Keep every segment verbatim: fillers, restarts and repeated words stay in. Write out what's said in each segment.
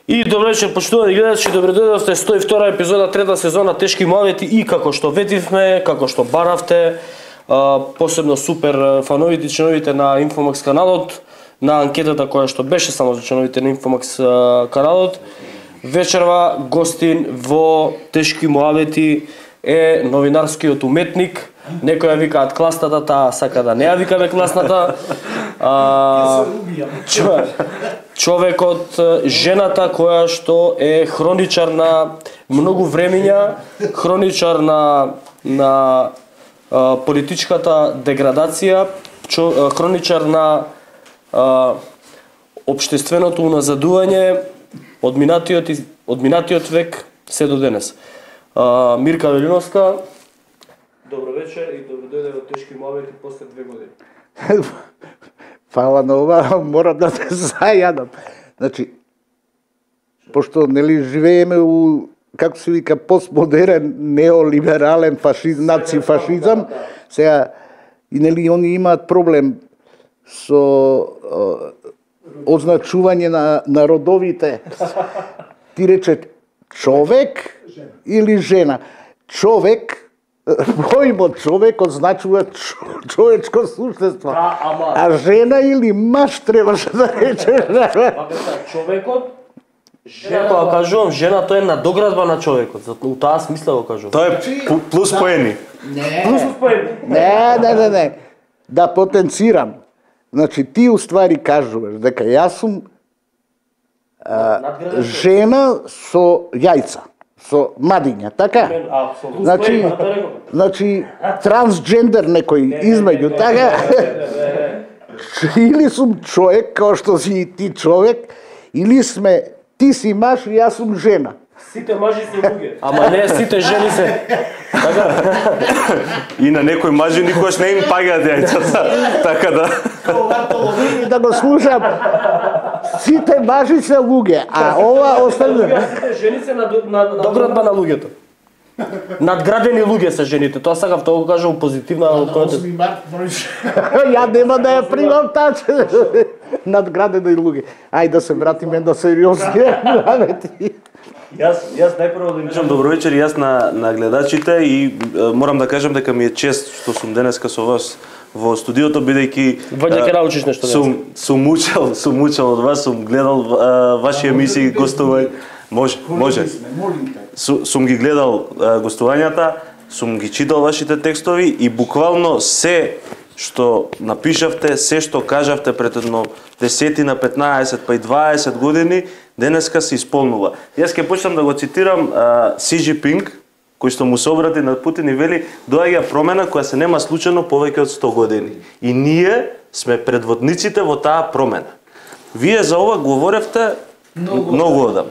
И добро вечер, почитувани гледачи, добредојдовте сто и втора епизода, трета сезона Тешки муавети и како што ветивме, како што баравте, посебно супер фановите и членовите на Инфомакс каналот, на анкетата која што беше само за членовите на Инфомакс каналот. Вечерва гостин во Тешки муавети е новинарскиот уметник. Некој ја викаат класната, таа сака да не ја викаме класната. А, човекот, жената која што е хроничар на многу времења, хроничар на на а, политичката деградација, чо, хроничар на а, општественото уназадување од минатиот од минатиот век се до денес. А, Мирка Велиновска, добро вечер и добредојде во Тешки муавети после две години. Фала на ова, морам да те зајадам. Значи, пошто нели живееме у, како се вика, постмодерен, неолиберален фашизм, нацифашизам, сега, и нели они имаат проблем со о, означување на, на родовите. Ти рече човек или жена. Човек, поимот човек означува човечко суштество. Да, ама... А жена или маж требаше да речеш. Човекот, жена, кога кажувам жена, тоа е надоградба на човекот. У таа смисла го кажувам. Тоа е плюс поени. Не. Плюс поени. Не, не, не, не. Да потенцирам. Значи ти уствари кажуваш дека јас сум а, жена со јајца, со мадиња, така? Апсолутно. Значи, значи трансджендер некој измеѓу, така? Или сум човек, као што си и ти човек, или сме ти си маж и јас сум жена. Сите мажи се луѓе. Ама не сите жени се. Така? И на некој мажи никош не им пагаат јајцата. Така да. И да го слушам. Сите мажи се луѓе, а ова остане. Сите жени се на надоградба на луѓето. Надградени луѓе се жените. Тоа сакав тоа го кажам позитивна осми март Ја нема да ја примам таа. Надградени луѓе. Ајде да се вратиме на сериозни работи. Јас јас најпрво да им кажам добро вечер јас на на гледачите и е, морам да кажам дека ми е чест што сум денеска со вас во студиото, бидејќи Ваѓа ќе научиш нешто. Сум сум учел, сум учел од вас, сум гледал а, ваши емисии, гостување. Може, може. Су, сум ги гледал а, гостувањата, сум ги читал вашите текстови и буквално се што напишавте, се што кажавте пред едно десетина, петнаесет, па и дваесет години, денеска се исполнува. Јас ќе почнам да го цитирам а, Си Џинпинг, кој што му се обрати на Путин и вели: доаѓа промена која се нема случајно повеќе од сто години. И ние сме предводниците во таа промена. Вие за ова говоревте многу, многу одам.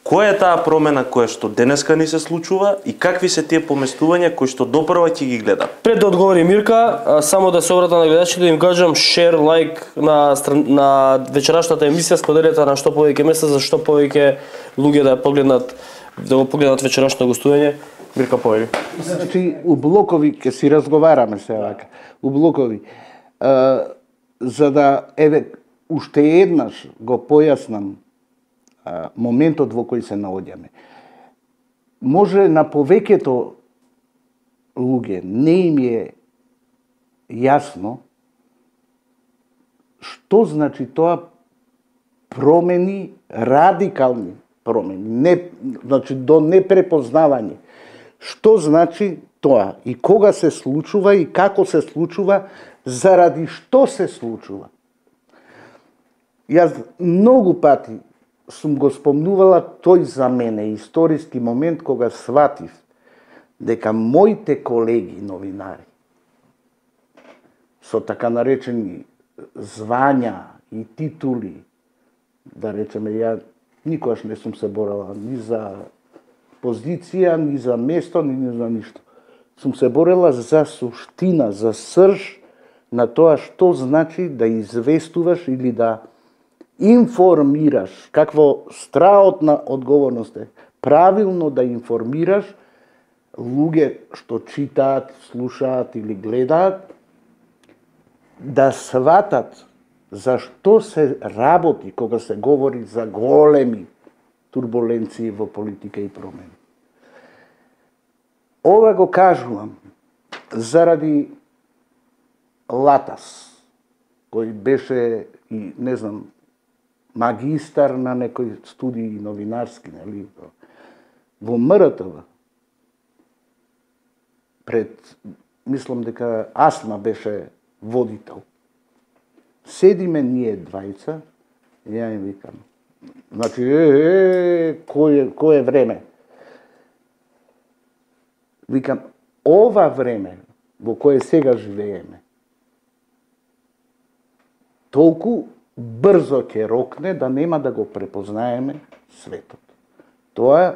Која е таа промена која што денеска ни се случува и какви се тие поместувања кои што допрва ќе ги гледам? Пред да одговори Мирка, само да се обратам на гледачите да им кажам шер, лайк на на вечерашната емисија, споделете на што повеќе места за што повеќе луѓе да погледнат да го погледнат вечерашното гостување. Мирка, повели. Значи, у блокови ќе си разговараме се вака. У блокови. А, за да еве уште еднаш го појаснам а, моментот во кој се наоѓаме. Може на повеќето луѓе не им е јасно што значи тоа промени, радикални промени, не, значи до непрепознавање. Што значи тоа и кога се случува и како се случува, заради што се случува. Јас многу пати сум го спомнувала тој за мене историски момент кога сватив дека моите колеги новинари со така наречени звања и титули, да речеме, ја никогаш не сум се борела ни за позиција, ни за место, ни за ништо. Сум се борела за суштина, за срж на тоа што значи да известуваш или да информираш, какво страот на одговорност е, правилно да информираш луѓе што читаат, слушаат или гледаат, да сватат за што се работи кога се говори за големи турбуленции во политика и промени. Ова го кажувам заради Латас, кој беше и, не знам, магистар на некои студии новинарски, нели, во М Р Т В. Пред, мислам дека Асма беше водител. Седиме ние двајца, и ја им викам, значи, е, е, кој е, кој е време? Викам, ова време во кое сега живееме, толку брзо ќе рокне да нема да го препознаеме светот. Тоа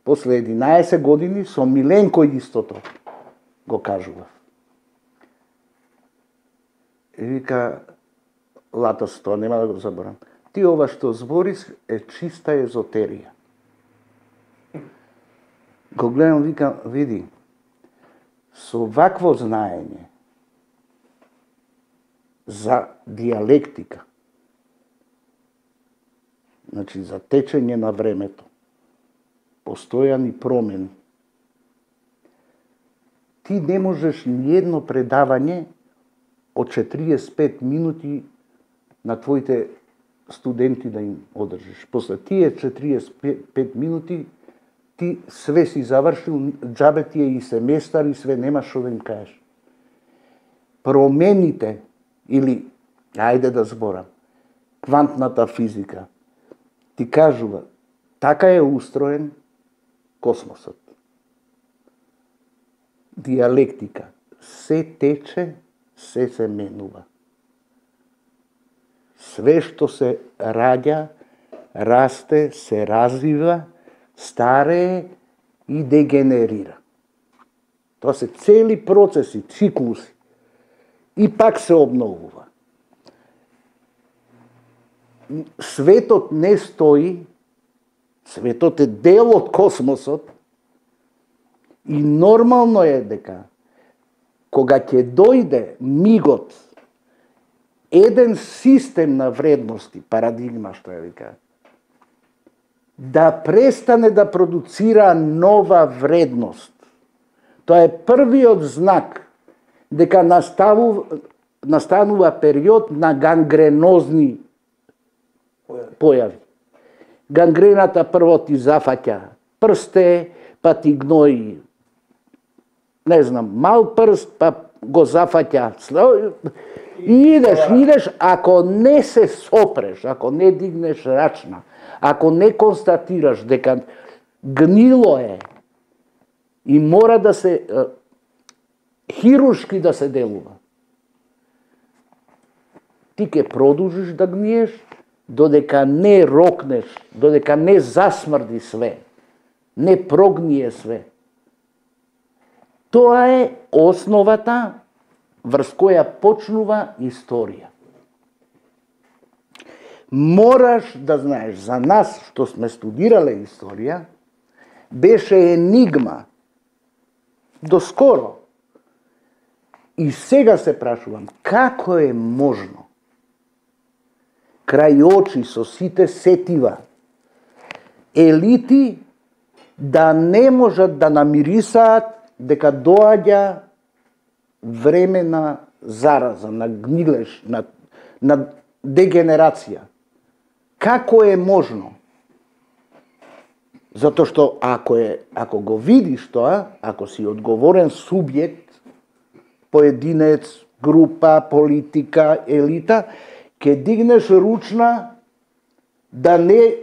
после единаесет години со Миленко истото го кажував. И вика, Латас, тоа нема да го заборам. Ти ова што збориш е чиста езотерија. Го гледам, викам, види, со вакво знаење за диалектика, значи за течење на времето, постојани промени, ти не можеш ниедно предавање од четириесет и пет минути на твоите студенти да им одржиш. После тие четириесет и пет минути ти све си завршил, џабе ти е и семестар и све, немаш што да им кажеш. Промените, или, ајде да зборам, квантната физика, ти кажува, така е устроен космосот. Диалектика, се тече, се се менува. Све што се раѓа, расте, се развива, старее и дегенерира. Тоа се цели процеси, циклуси. И пак се обновува. Светот не стои, светот е дел од космосот и нормално е дека кога ќе дојде мигот, еден систем на вредности, парадигма што ја вика, да престане да продуцира нова вредност. Тоа е првиот знак дека наставу, настанува период на гангренозни појави. Гангрената прво ти зафаќа прсте, па ти гнои, не знам, мал прст, па го зафаќа. И идеш, идеш, ако не се сопреш, ако не дигнеш рачна, ако не констатираш дека гнило е и мора да се хируршки да се делува, ти ќе продолжиш да гниеш додека не рокнеш, додека не засмрди све, не прогние све. Тоа е основата врз која почнува историја. Мораш да знаеш, за нас што сме студирале историја, беше енигма доскоро. И сега се прашувам, како е можно крај очи со сите сетива елити да не можат да намирисаат дека доаѓа време на зараза, на гнилеж, на, на дегенерација. Како е можно? Затоа што ако е, ако го видиш тоа, ако си одговорен субјект, поединец, група, политика, елита, ќе дигнеш ручна да не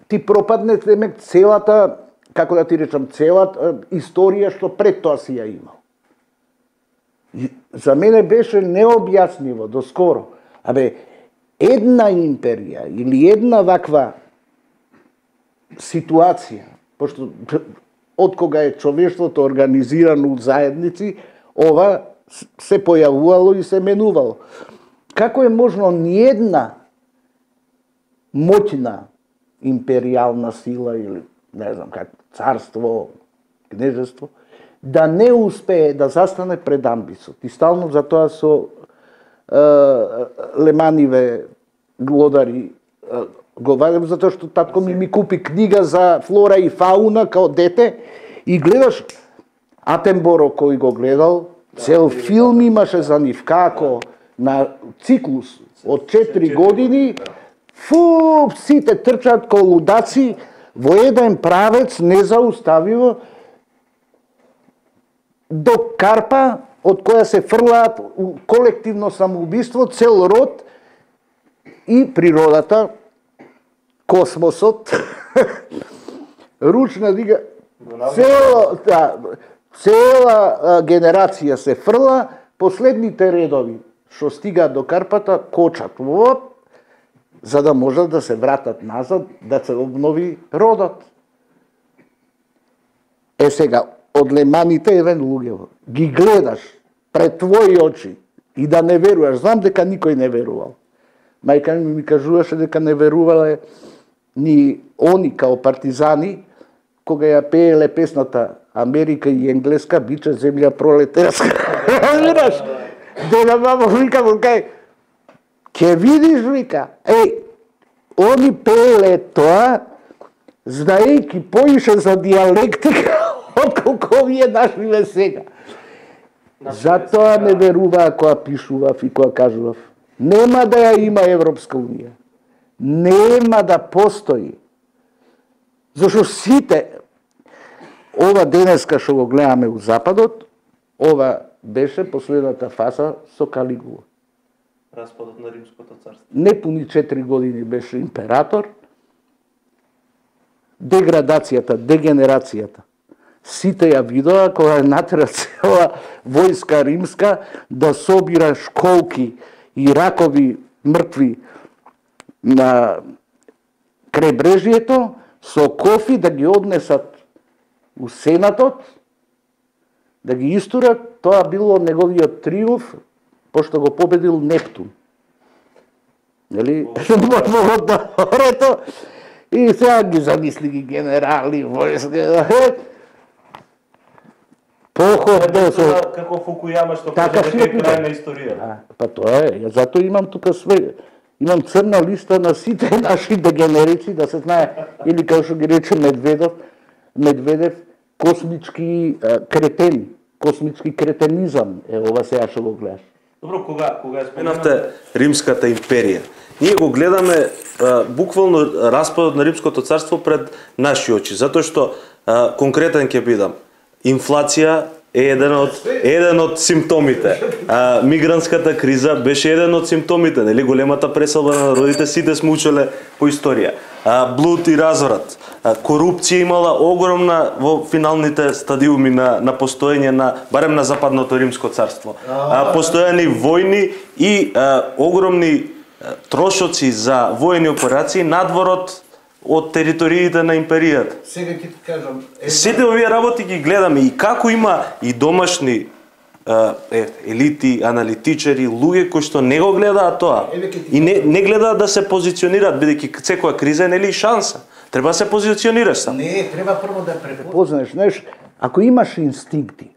ти пропадне целата, како да ти речам, целата историја што пред тоа си ја имал. И за мене беше необјасниво доскоро. Абе, една империја или една ваква ситуација, пошто од кога е човештвото организирано у заедници, ова се појавувало и се менувало. Како е можно ниедна моќна империјална сила или не знам как царство, кнежество, да не успее да застане пред амбисот. И стално за тоа со е, леманиве глодари е, го вадам затоа што татко ми ми купи книга за флора и фауна као дете и гледаш Атенборо кој го гледал, цел филм имаше за нив како на циклус од четири години, фу, сите трчат ко лудаци во еден правец незауставиво до Карпа, од која се фрлаат колективно самоубиство, цел род и природата, космосот, ручна дига, цела, да, цела генерација се фрла, последните редови што стигаат до Карпата, кочат, оп, за да можат да се вратат назад, да се обнови родот. Е сега, од леманите еден луѓе, ги гледаш пред твои очи и да не веруваш, знам дека никој не верувал. Мајка ми ми кажуваше дека не верувале ни они као партизани, кога ја пееле песната Америка и енглеска, биче земја пролетарска. Видаш? Деда мамо вика му кај, ке видиш, вика, еј, они пееле тоа, знаејќи поише за диалектика, отколку вие нашиве сега. Затоа не веруваа која пишував и која кажував. Нема да ја има Европска унија. Нема да постои. Зашто сите, ова денеска што го гледаме у Западот, ова беше последната фаза со Калигула. Распадот на Римското царство. Непуни четири години беше император. Деградацијата, дегенерацијата. Сите ја видоа кога натера цела војска римска да собира школки и ракови мртви на крајбрежјето со кофи да ги однесат у Сенатот, да ги истурат, тоа било неговиот триумф, пошто го победил Нептун. Нели? Рето, и сега ги замисли ги генерали, војска. Походно со... Како Фукујама што така кажа дека е крај на историјата. Па тоа е, ја затоа имам тука све, имам црна листа на сите наши дегенерици, да се знае, или како што ги рече Медведев, Медведев, космички кретени, космички кретенизам, е ова сега што го гледаш. Добро, кога кога ја споменавте Римската империја, ние го гледаме а, буквално распадот на Римското царство пред наши очи, затоа што а, конкретен ќе бидам. Инфлација е еден од еден од симптомите. А, мигрантската криза беше еден од симптомите, нели, големата преселба на народите, сите сме учеле по историја. А, блуд и разорат. А, корупција имала огромна во финалните стадиуми на на постоење на барем на Западното Римско царство. А, постојани војни и а, огромни а, трошоци за воени операции надворот од териториите на империјата. Сега ќе ти кажам, сите овие работи ги гледаме и како има и домашни е, елити, аналитичари, луѓе кои што не го гледаат тоа и не, не гледаат да се позиционираат, бидејќи секоја криза е нели шанса. Треба да се позиционираш сам. Не, треба прво да препознаеш, знаеш, ако имаш инстинкти.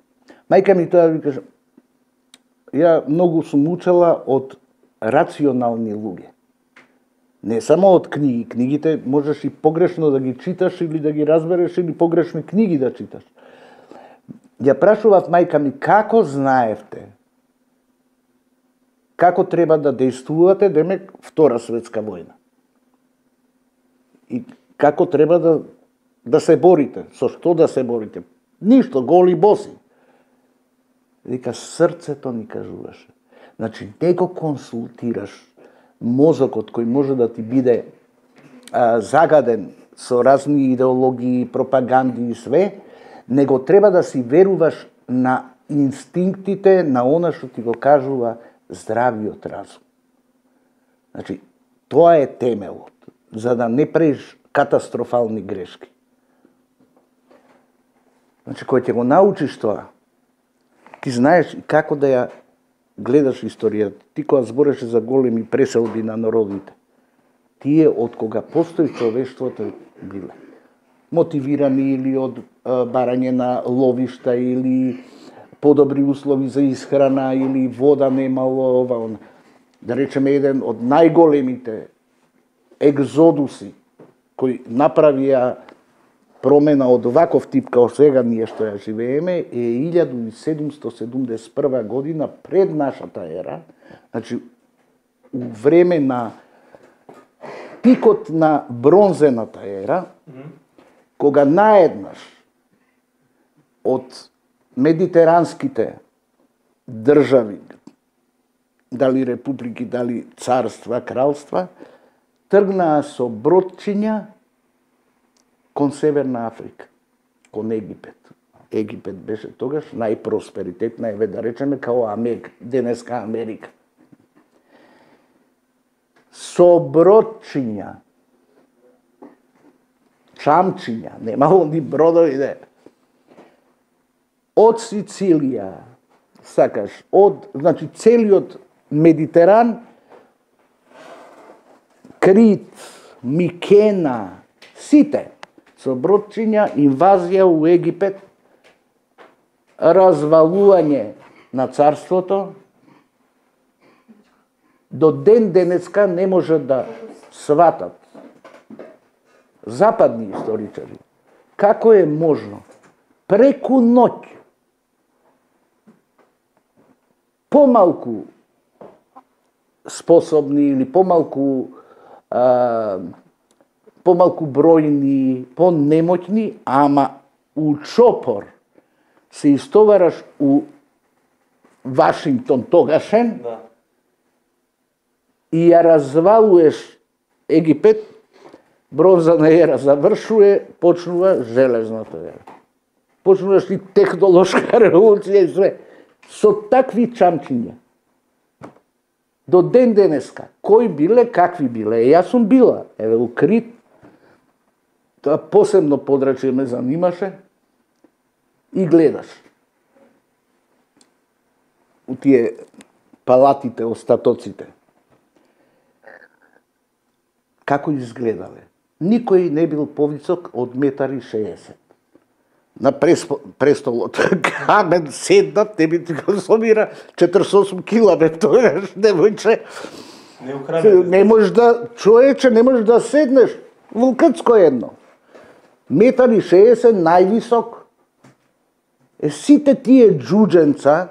Мајка ми тоа ви кажа, ја многу сум учела од рационални луѓе. Не само од книги. Книгите можеш и погрешно да ги читаш или да ги разбереш или погрешни книги да читаш. Ја прашував мајка ми како знаевте како треба да действувате, демек Втора светска војна. И како треба да да се борите, со што да се борите? Ништо, голи боси. Вика, срцето ни кажуваше. Значи, не го консултираш мозокот кој може да ти биде а, загаден со разни идеологии, пропаганди и све, него треба да си веруваш на инстинктите, на она што ти го кажува здравиот разум. Значи, тоа е темелот, за да не правиш катастрофални грешки. Значи, кој ќе го научиш тоа, ти знаеш како да ја гледаш историјата. Ти кога збореше за големи преселби на народите, тие од кога постои човештвото биле мотивирани или од а, барање на ловишта или подобри услови за исхрана или вода немало, ова, она. Да речеме еден од најголемите екзодуси кои направија промена од оваков тип како сега ние што ја живееме е илјада седумстотини седумдесет и прва година пред нашата ера, значи у време на пикот на бронзената ера, кога наеднаш од медитеранските држави, дали републики, дали царства, кралства, тргнаа со бродчиња кон Северна Африка, кон Египет. Египет беше тогаш најпросперитетна, еве да речеме, као Америка, денеска Америка. Со бродчиња, чамчиња, немало ни бродови, де. Од Сицилија, сакаш, од, значи, целиот Медитеран, Крит, Микена, сите, со бродчиња, инвазија у Египет, развалување на царството, до ден денеска не може да сватат западни историчари како е можно преку ноќ помалку способни или помалку а, помалку бројни, понемоќни, ама у чопор се истовараш у Вашингтон тогашен, да. И ја развалуеш Египет, бронзана ера завршува, почнува железната ера. Почнуваш и технолошка револуција и све. Со такви чамчиња. До ден денеска. Кои биле, какви биле. Јас сум била. Еве у Крит, тоа посебно подрачје ме занимаше, и гледаш. У тие палатите, остатоците. Како изгледале? Никој не бил повисок од метар и шеесет. На престолот камен седнат, не би ти го собира четириесет и осум километра, тогаш немојче. Не украде. Не можеш да, човече, не можеш да седнеш. Вулкацко едно. Метар и шеесет највисок. Е, сите тие джудженца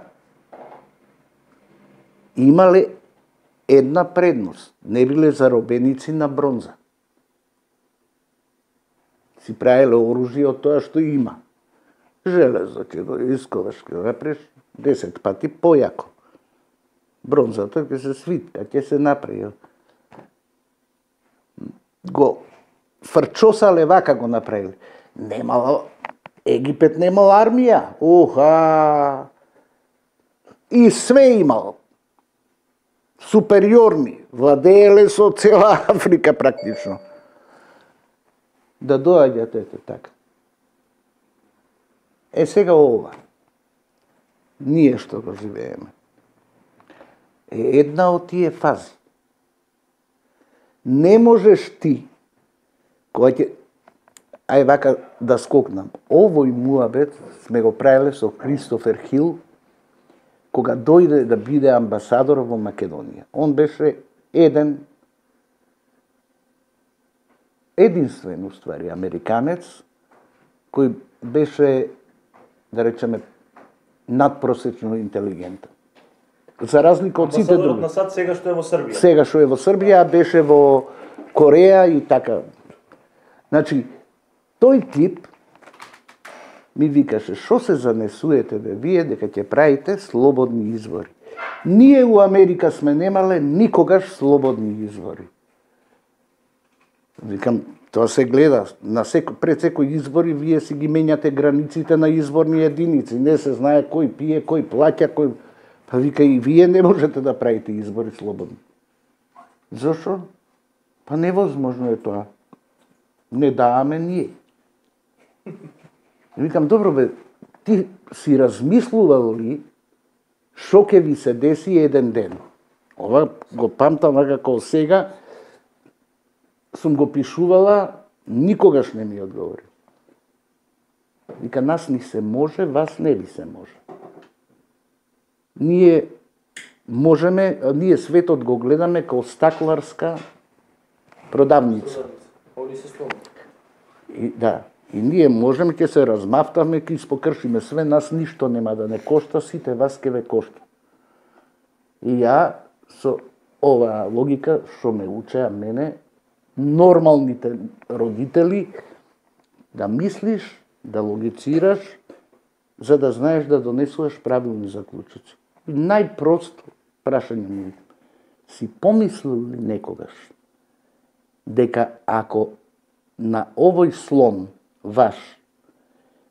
имале една предност. Не биле заробеници на бронза. Си правиле оружје од тоа што има. Железо ќе го исковаш, ќе го направиш десет пати појако. Бронзата ќе се свитка, ќе се направи. Го фрчосале вака го направиле. Немало, Египет немал армија. Оха! И све имал. Супериорни. Владееле со цела Африка практично. Да доаѓат ете така. Е сега ова. Ние што го живееме. Е една од тие фази. Не можеш ти, кога ќе, ај вака да скокнам, овој муабет сме го правиле со Кристофер Хил, кога дојде да биде амбасадор во Македонија. Он беше еден, единствен, уствари, американец, кој беше, да речеме, надпросечно интелигентен. За разлика од сите други. Амбасадорот на САД сега што е во Србија. Сега што е во Србија, беше во Кореја и така. Значи, тој тип ми викаше, шо се занесуете бе вие дека ќе правите слободни избори. Ние у Америка сме немале никогаш слободни избори. Викам, тоа се гледа, на секо, пред секој избори вие си ги менјате границите на изборни единици, не се знае кој пие, кој плаќа, кој... Па вика, и вие не можете да правите избори слободни. Зошо? Па невозможно е тоа. Не даваме ние. Викам, добро бе, ти си размислувал ли шо ќе ви се деси еден ден? Ова го памтам како сега, сум го пишувала, никогаш не ми одговори. Вика, нас ни се може, вас не ви се може. Ние можеме, ние светот го гледаме како стакларска продавница. Они се сломат. И да, и ние можеме ќе се размафтаме, ќе испокршиме све, нас ништо нема да не кошта, сите вас ќе ве кошта. И ја со оваа логика што ме учеа мене, нормалните родители, да мислиш, да логицираш, за да знаеш да донесуваш правилни заклучоци. И најпросто прашање ми, си помислил ли некогаш дека ако на овој слон ваш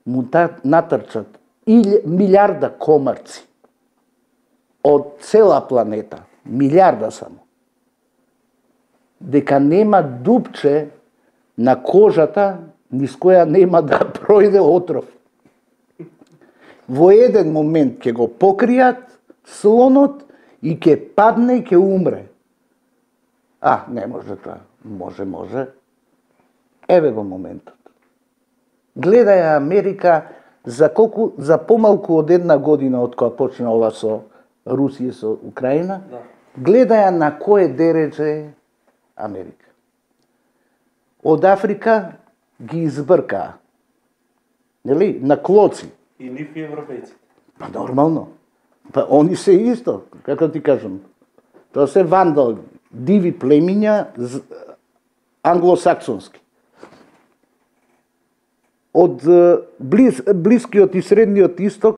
му натрчат милиарда комарци од цела планета, милиарда само, дека нема дупче на кожата низ која нема да пројде отров. Во еден момент ќе го покријат слонот и ќе падне и ќе умре. А, не може тоа. Може, може. Еве го моментот. Гледаја Америка за колку, за помалку од една година од кога почна ова со Русија со Украина, да. Гледаја на кое дередже Америка. Од Африка ги избркаа. Нели? На клоци. И нив и европејци. Па нормално. Па они се исто, како ти кажам. Тоа се вандали, диви племиња англосаксонски. Од близ, блискиот и средниот исток